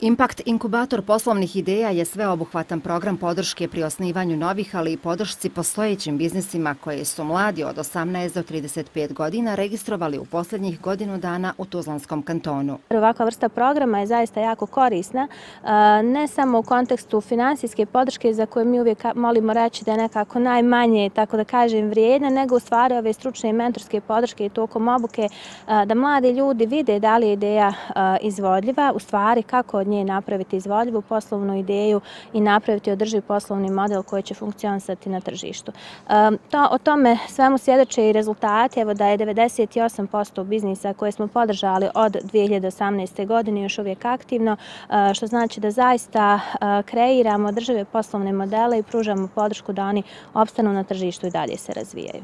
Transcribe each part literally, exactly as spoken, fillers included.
Impact inkubator poslovnih ideja je sveobuhvatan program podrške pri osnivanju novih, ali i podršci postojećim biznisima koje su mladi od osamnaest do trideset pet godina registrovali u posljednjih godinu dana u Tuzlanskom kantonu. Ovakva vrsta programa je zaista jako korisna, ne samo u kontekstu finansijske podrške za koje mi uvijek molimo reći da je nekako najmanje, tako da kažem, vrijedna, nego u stvari ove stručne i mentorske podrške i tokom obuke da mladi ljudi vide da li je ideja izvodljiva, u stvari kako od nje napraviti izvodljivu poslovnu ideju i napraviti održiv poslovni model koji će funkcionisati na tržištu. To, o tome svemu svjedoče i rezultati, evo da je devedeset osam posto biznisa koje smo podržali od dvije hiljade osamnaeste. godine još uvijek aktivno, što znači da zaista kreiramo održive poslovne modele i pružamo podršku da oni opstanu na tržištu i dalje se razvijaju.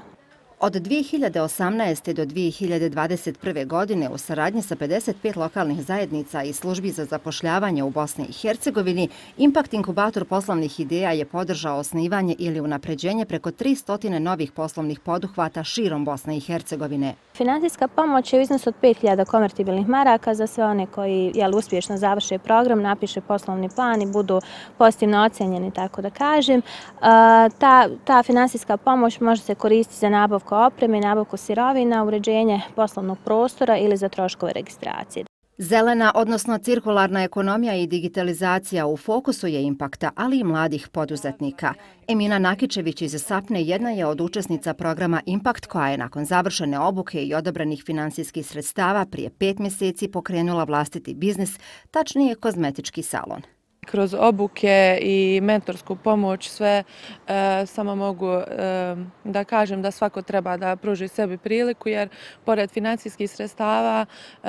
Od dvije hiljade osamnaeste. do dvije hiljade dvadeset prve. godine u saradnji sa pedeset pet lokalnih zajednica i službi za zapošljavanje u Bosni i Hercegovini, Impact inkubator poslovnih ideja je podržao osnivanje ili unapređenje preko tristo novih poslovnih poduhvata širom Bosne i Hercegovine. Finansijska pomoć je u iznosu od pet hiljada konvertibilnih maraka za sve one koji jel, uspješno završe program, napiše poslovni plan i budu pozitivno ocenjeni, tako da kažem. Ta, ta finansijska pomoć može se koristiti za nabavku opreme, nabavku sirovina, uređenje poslovnog prostora ili za troškove registracije. Zelena, odnosno cirkularna ekonomija i digitalizacija u fokusu je Impakta, ali i mladih poduzetnika. Emina Nakičević iz Sapne jedna je od učesnica programa Impact koja je nakon završene obuke i odabranih finansijskih sredstava prije pet mjeseci pokrenula vlastiti biznis, tačnije kozmetički salon. Kroz obuke i mentorsku pomoć sve e, samo mogu e, da kažem da svako treba da pruži sebi priliku jer pored financijskih sredstava e,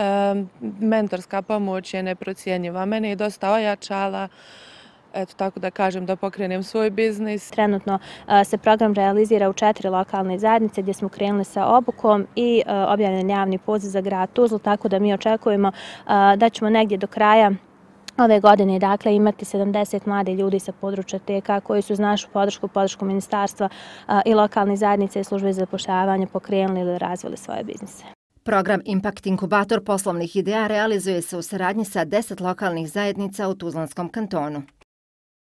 mentorska pomoć je neprocjenjiva. Mene je dosta ojačala, eto tako da kažem da pokrenem svoj biznis. Trenutno se program realizira u četiri lokalne zajednice gdje smo krenuli sa obukom i objavljen javni poziv za grad Tuzlu, tako da mi očekujemo da ćemo negdje do kraja ove godine dakle, imati sedamdeset mladih ljudi sa područja T K koji su uz našu podršku, podršku ministarstva i lokalne zajednice i službe za zapošljavanje pokrenuli ili razvili svoje biznise. Program Impact inkubator poslovnih ideja realizuje se u saradnji sa deset lokalnih zajednica u Tuzlanskom kantonu.